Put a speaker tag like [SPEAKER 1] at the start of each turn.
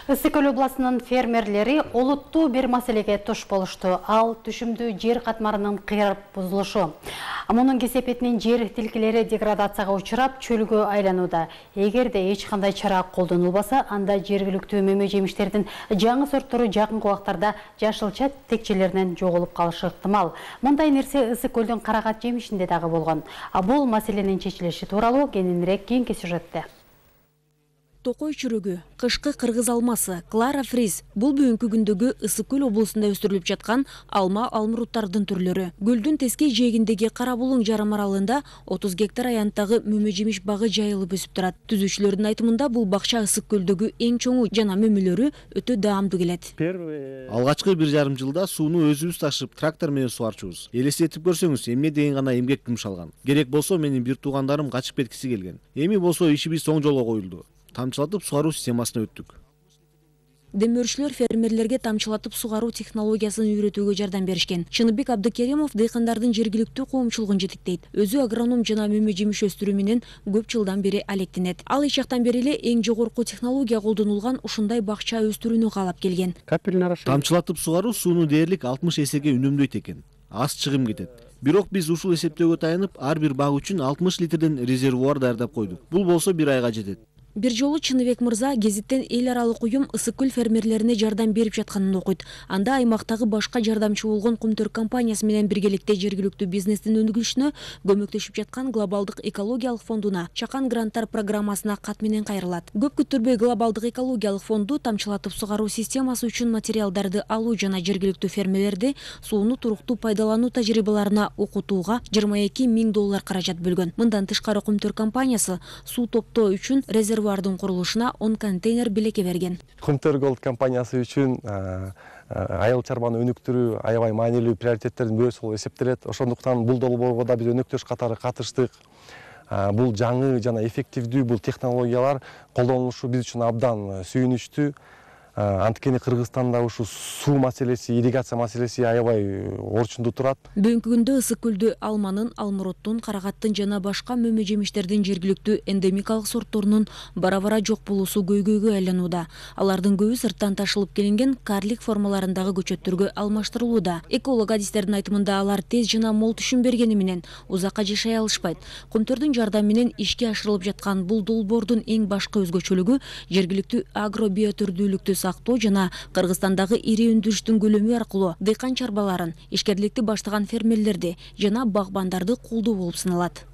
[SPEAKER 1] Ысык Көл областынын фермерлери олуттуу бир маселеге туш болушту. Ал түшүмдүү жер катмарынын кыйрап бузулушу. Мунун кесепетинен жер тилкелери деградацияга учурап, чөлгө айланууда. Эгерде эч кандай чара колдонулбаса, анда жергиликтүү мөмө жемиштердин жаңы сорттору жакынкы убактарда жашылча текчелеринен жоголуп калышы ыктымал. Мындай нерсе Ысык Көлдүн карагат жемишинде дагы болгон. Бул маселенин чечилиши тууралуу кененирээк кийинки сюжетте.
[SPEAKER 2] Токой чүрөгү, кышкы кыргыз алмасы, Клара Фриз бул бүгүнкү күндөгү Ысык Көл облусунда өстүрүлүп жаткан алма алмуруттардын түрлөрү. Гүлдүн тескей жээгиндеги Кара Булуң жарым аралыгында 30 гектар аянттагы мөмө жемиш багы жайылып өсүп турат. Түзүүчүлөрдүн айтымында бул бакча Ысык Көлдөгү эң чоңу жана мөмөлөрү өтө даамдуу келет.
[SPEAKER 3] Алгачкы 1,5 жылда сууну өзүбүз ташып, трактор менен суарчубуз. Элестетип көрсөңүз, эмне деген гана эмгек жумшалган. Керек болсо менин бир туугандарым качып кеткиси келген. Эми болсо ишибиз оң жолго коюлду. Тамчылатып сугаруу системасына өттүк.
[SPEAKER 2] Демөөрчүлөр фермерлерге тамчылатып сугаруу технологиясын үйрөтүүгө жардам беришкен. Чыныбек Абдыкеримов дыйкандардын жергиликтүү коомчулугун жетектейт. Өзү агроном жана мөмө жемиш өстүрүү менен көп жылдан бери алектенет. Ал эч жактан бери эле эң жогорку технология колдонулган ушундай бакча өстүрүүнү каалап келген.
[SPEAKER 3] Тамчылатып сугаруу сууну дээрлик 60 эсеге үнөмдөйт экен. Аз чыгым кетет. Бирок биз ушул эсептөөгө таянып, ар бир бак үчүн 60 литрден резервуар даярдап койдук. Бул болсо бир айга жетет.
[SPEAKER 2] Бир жолу Чыныбек мырза гезиттен эл аралык уюм Ысык Көл фермерлерине жардам берип жатканын окуйт. Анда аймактагы башка жардамчы болгон Кумтөр компаниясы менен биргеликте жергиликтүү бизнестин өнүгүшүнө көмөктөшүп жаткан Глобалдык экологиялык фондуна Чакан гранттар программасына кат менен кайрылат. Көп күттүрбөй Глобалдык экологиялык фонду тамчылатып сугаруу системасы үчүн материалдарды алуу жана жергиликтүү фермерлерди сууну туруктуу пайдалануу тажрыйбаларына окутууга $22,000 каражат бөлгөн. Мындан тышкары Кумтөр компаниясы суу топтоо үчүн резервуардын курулушуна 10 контейнер белеке берген.
[SPEAKER 4] Кумтөр Голд компаниясы үчүн айыл чарбаны өнүктүрүү аябай маанилүү приоритеттердин бирөөсү болуп эсептелет. Ошондуктан бул долбоорго да биз өнөктөш катары катыштык. Бул жаңы жана эффективдүү бул технологиялар колдонулушу биз үчүн абдан сүйүнүчтүү. Анткени Кыргызстанда ушу суу маселеси, ирригация маселеси аябай орчундуу турат.
[SPEAKER 2] Бүгүнкү күндө Ысык Көлдө алманын, алмуруттун, карагаттын жана башка мөмө жемиштердин жергиликтүү эндемикалык сортторунун бара-бара жок болуусу көйгөйгө айланууда. Алардын көбү сырттан ташылып келинген карлик формаларындагы көчөттөргө алмаштырылууда. Эколог адистердин айтымында алар тез жана мол түшүм бергени менен узакка жашай алышпайт. Кумтөрдүн жардамы менен ишке ашырылып жаткан бул долбоордун эң башкы өзгөчөлүгү жергиликтүү агробиотүрдүүлүктү сактоо жана Кыргызстандагы ири өндүрүштүн көлөмү аркылуу дыйкан чарбаларын, ишкерликти баштаган фермерлерди жана багбандарды колдоо болуп саналат.